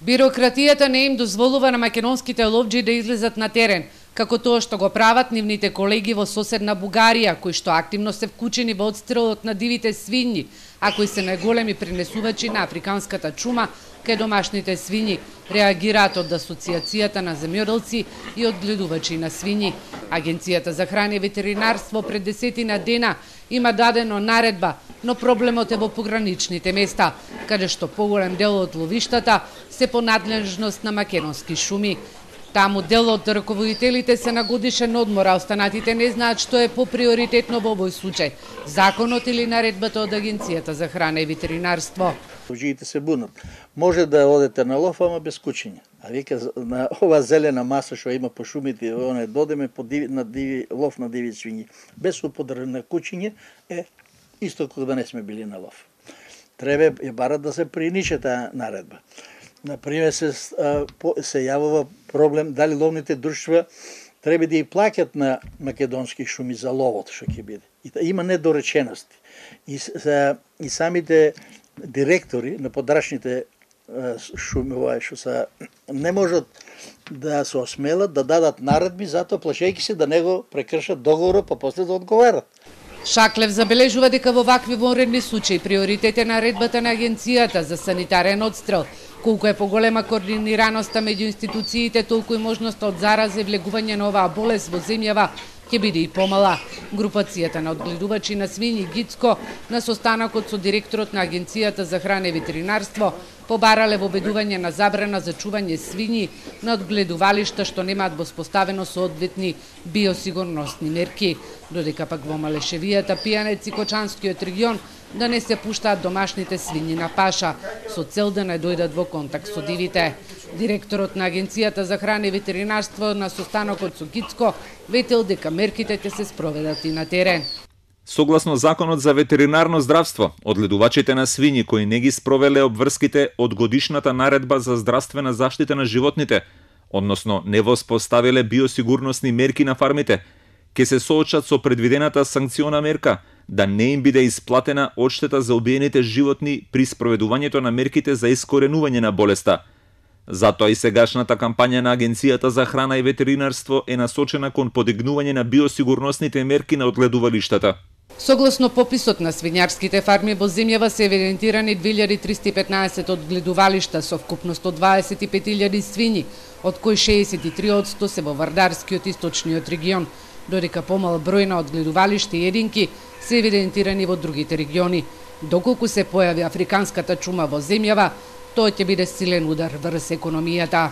Бирократијата не им дозволува на македонските ловџи да излезат на терен, како тоа што го прават нивните колеги во соседна Бугарија, кои што активно се вклучени во одстрелот на дивите свињи, а кои се најголеми пренесувачи на африканската чума кај домашните свињи, реагираат од Асоциацијата на земјоделци и одгледувачи на свињи. Агенцијата за храна и ветеринарство пред 10 дена има дадено наредба, но проблемот е во пограничните места, каде што поголем дел од ловиштата се по надлежност на македонски шуми. Таму дел од раководителите се на годишен одмор, а останатите не знаат што е поприоритетно во овој случај, законот или наредбата од Агенцијата за храна и ветеринарство. Ловџиите се бунат. Може да одете на лов, ама без кучиња. А вика на ова зелена маса што има по шумите, оне додеме на лов на диви свињи, без употреба на кучиње е исто како да не сме били на лов. Треба барат да се приниче таа наредба. Например, се јавува проблем дали ловните друштва треба да ја плаќат на македонски шуми за ловот што ќе биде. Има недоречености. И самите директори на подрачните шуми што не можат да се осмелат да дадат наредби, затоа плашејќи се да не го прекршат договорот, па после да одговарат. Шаклев забележува дека во вакви вонредни случаи приоритет е наредбата на Агенцијата за санитарен одстрел. Колку е поголема координираноста меѓу институциите, толку и можноста од зараза и влегување на оваа болест во земјава ќе биде и помала. Групацијата на одгледувачи на свињи Гицко на состанокот со директорот на Агенцијата за храна и ветеринарство побарале воведување на забрана за чување свињи на одгледувалишта што немаат воспоставено соодветни биосигурносни мерки, додека пак во Малешевијата, Пијанец и Кочанскиот регион да не се пуштаат домашните свињи на паша, со цел да не дојдат во контакт со дивите. Директорот на Агенцијата за храна и ветеринарство на состанокот со Гицко ветил дека мерките ќе се спроведат и на терен. Согласно Законот за ветеринарно здравство, одгледувачите на свињи кои не ги спровеле обврските од годишната наредба за здравствена заштита на животните, односно не воспоставиле биосигурносни мерки на фармите, ќе се соочат со предвидената санкциона мерка да не им биде исплатена одштета за убиените животни при спроведувањето на мерките за искоренување на болеста. Затоа и сегашната кампања на Агенцијата за храна и ветеринарство е насочена кон подигнување на биосигурносните мерки на одгледувалиштата. Согласно пописот на свињарските фарми во земјава се евидентирани 2315 одгледувалишта со вкупност од 25.000 свињи, од кои 63% се во Вардарскиот источниот регион, додека помал број на одгледувалишта и единки се евидентирани во другите региони. Доколку се појави африканската чума во земјава, тоа ќе биде силен удар врз економијата.